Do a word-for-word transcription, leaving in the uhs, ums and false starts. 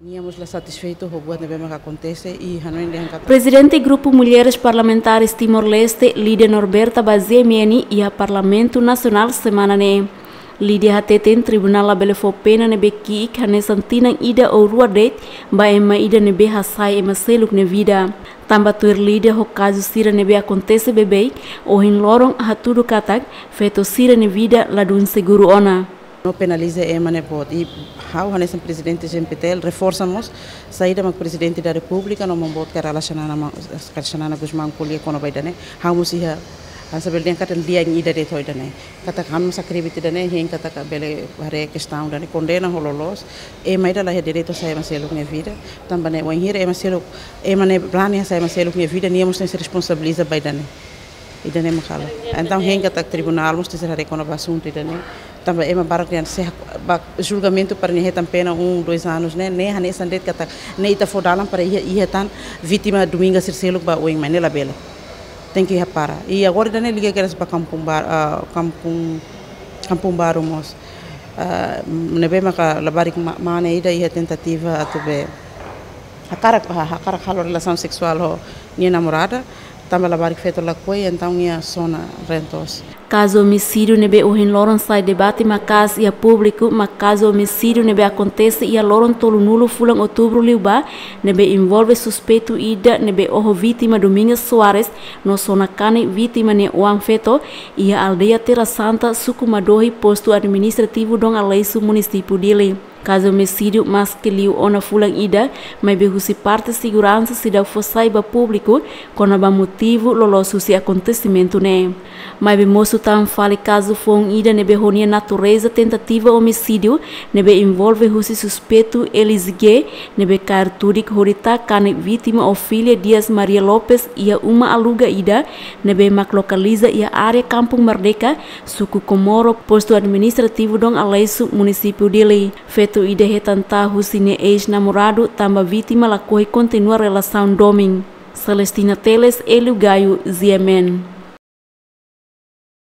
Nia mós la satisfeitu ho buat ne'ebé maka akontese i hanoin dehan katak Prezidente Grupu Mulheres Parlamentares Timor-Leste, Lídia Norberta, ba G M N iha Parlamentu Nasionál semana ne'e. Lídia hateten tribunál labele fó pena ne'ebé ki'ik hanesan tinan ida ou rua de'it ba ema ida ne'ebé hasa'e ema seluk nia vida. Tanba tuir Lídia, ho kazu sira ne'ebé akontese beibeik, ohin loron hatudu katak feto sira nia vida ladún seguru ona. No penaliza ema ne'e boot. I ha'u hanesan prezidente G M P T L reforsa mós, saida mak Prezidente da Repúblika no Maun Boot Kay Rala Xanana ma-, Kay Rala Xanana Gusmão ko'alia kona-ba ida-ne'e. Ha'u mós iha, ah, saber dian katan dian ida de'it ho ida-ne'e. Katak ha'u mós akredita ida-ne'e, hein katak bele haree kestaun ida-ne'e, kondena ho loloos. Ema ida la iha direitu hasa'e ema seluk nia vida. Tanba ne'e wainhira ema seluk, ema ne'e brani hasa'e ema seluk nia vida, nia mós tenke responsabiliza ba ida-ne'e. Ida-ne'e mak halo. Entaun hein katak tribunál mós tenke haree kona-ba asuntu ida-ne'e. Tanba ema barak dehan se hak-, ba julgamentu para nia hetan pena um, dois anos ne'e, ne'e hanesan de'it katak ne'e ita fó dalan para iha, iha tan vítima Dominga sira seluk ba oin, maibé ne'e labele. Tenke hapara. I agora ida-ne'e liga kedas ba Kampung Bar-, ah, Kampung, Kampung Baru mós. Ah, ne'ebé maka labarik ma-, mane ida iha tentativa atu be hakarak, ha-, hakarak halo relasaun seksuál ho nia namorada, tanba labarik feto lakohi, entaun nia sona reen-toos. Kazu omisídiu ne'ebé ohin loron sai debate maka'as iha públiku mak kazu omisídiu ne'ebé akontese iha loron tolunulu fulan Outubru liubá, ne'ebé envolve suspeitu ida ne'ebé oho vítima Domingas Soares no sona kanek vítima nia oan feto iha aldeia Terra Santa, suku Madohi, postu administrativu Dom Aleixo, munisípiu Dili. Kazu omisídiu maske liu ona fulan ida, maibé husi parte seguransa seidauk fó sai ba públiku kona-ba motivu loloos husi akontesimentu ne'e. Maibé mosu tan fali kazu foun ida ne'ebé ho nia natureza tentativa omisídiu, ne'ebé envolve husi suspeitu Elis G, ne'ebé kaer tudik hodi taka kanek vítima Ofilia Dias Maria Lopes iha uma aluga ida ne'ebé mak lokaliza iha área Kampung Merdeka, suku Comoro, postu administrativu Dom Aleixo, munisípiu Dili. Feto ida hetan ta'a husi nia eis-namoradu, tanba vítima lakohi kontinua relasaun domin. Celestina Teles, Hélio Gaio, G M N.